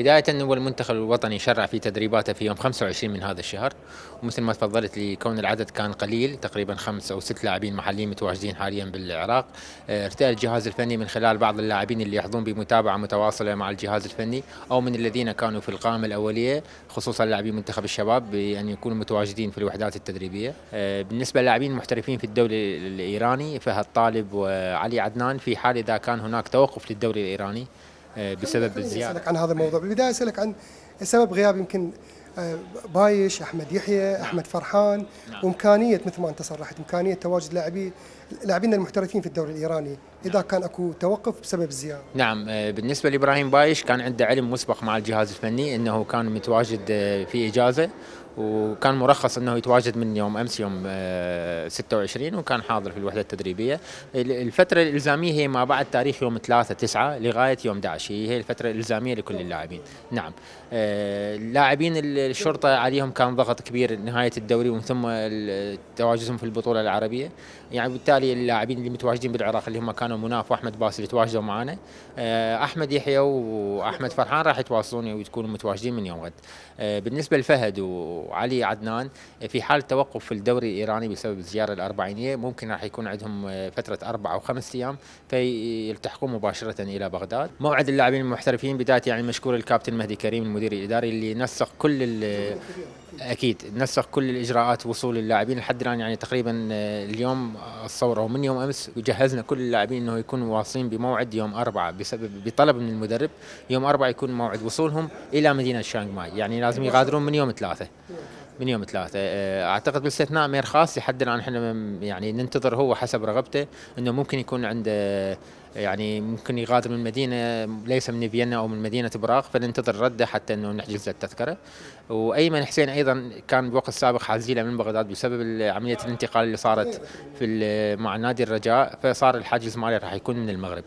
بداية هو المنتخب الوطني شرع في تدريباته في يوم 25 من هذا الشهر، ومثل ما تفضلت لكون العدد كان قليل تقريبا 5 أو 6 لاعبين محليين متواجدين حاليا بالعراق. ارتأى الجهاز الفني من خلال بعض اللاعبين اللي يحظون بمتابعة متواصلة مع الجهاز الفني أو من الذين كانوا في القائمة الأولية، خصوصا لاعبي منتخب الشباب، بأن يكونوا متواجدين في الوحدات التدريبية. بالنسبة للاعبين المحترفين في الدوري الإيراني، فهد طالب وعلي عدنان في حال إذا كان هناك توقف للدوري الإيراني بسبب الزيادة. أسألك عن هذا الموضوع بالبداية، أسألك عن سبب غياب يمكن بايش، أحمد يحيى، أحمد فرحان، وإمكانية مثل ما أنت صرحت إمكانية تواجد لاعبين المحترفين في الدوري الإيراني إذا كان أكو توقف بسبب الزيادة. نعم، بالنسبة لإبراهيم بايش كان عنده علم مسبق مع الجهاز الفني أنه كان متواجد في إجازة، وكان مرخص أنه يتواجد من يوم أمس يوم 26، وكان حاضر في الوحدة التدريبية. الفترة الإلزامية هي ما بعد تاريخ يوم 3/9 لغاية يوم 11، هي الفترة الإلزامية لكل اللاعبين. نعم، اللاعبين الشرطة عليهم كان ضغط كبير نهاية الدوري ومن ثم تواجدهم في البطولة العربية، يعني بالتالي اللاعبين اللي متواجدين بالعراق اللي هم كانوا مناف وأحمد باسل يتواجدوا معنا. أحمد يحيى وأحمد فرحان راح يتواصلون ويكونوا متواجدين من يوم غد. بالنسبة لفهد وعلي عدنان، في حال توقف في الدوري الإيراني بسبب الزيارة الأربعينية ممكن راح يكون عندهم فترة 4 أو 5 أيام فيلتحقون مباشرة إلى بغداد. موعد اللاعبين المحترفين بداية يعني مشكور الكابتن مهدي كريم المدير الإداري اللي نسق أكيد نسق كل الإجراءات وصول اللاعبين لحد الآن. يعني تقريبا اليوم الصورة ومن يوم أمس وجهزنا كل اللاعبين إنه يكونوا واصلين بموعد يوم 4 بطلب من المدرب، يوم 4 يكون موعد وصولهم إلى مدينة شانغ ماي، يعني لازم يغادرون من يوم 3. اعتقد باستثناء مير خاص لحد الان احنا يعني ننتظر هو حسب رغبته انه ممكن يكون عنده، يعني ممكن يغادر من مدينه ليس من فيينا او من مدينه براغ، فننتظر رده حتى انه نحجز التذكره. وايمن حسين ايضا كان بوقت سابق حازيله من بغداد بسبب عمليه الانتقال اللي صارت مع نادي الرجاء، فصار الحاجز ماله راح يكون من المغرب.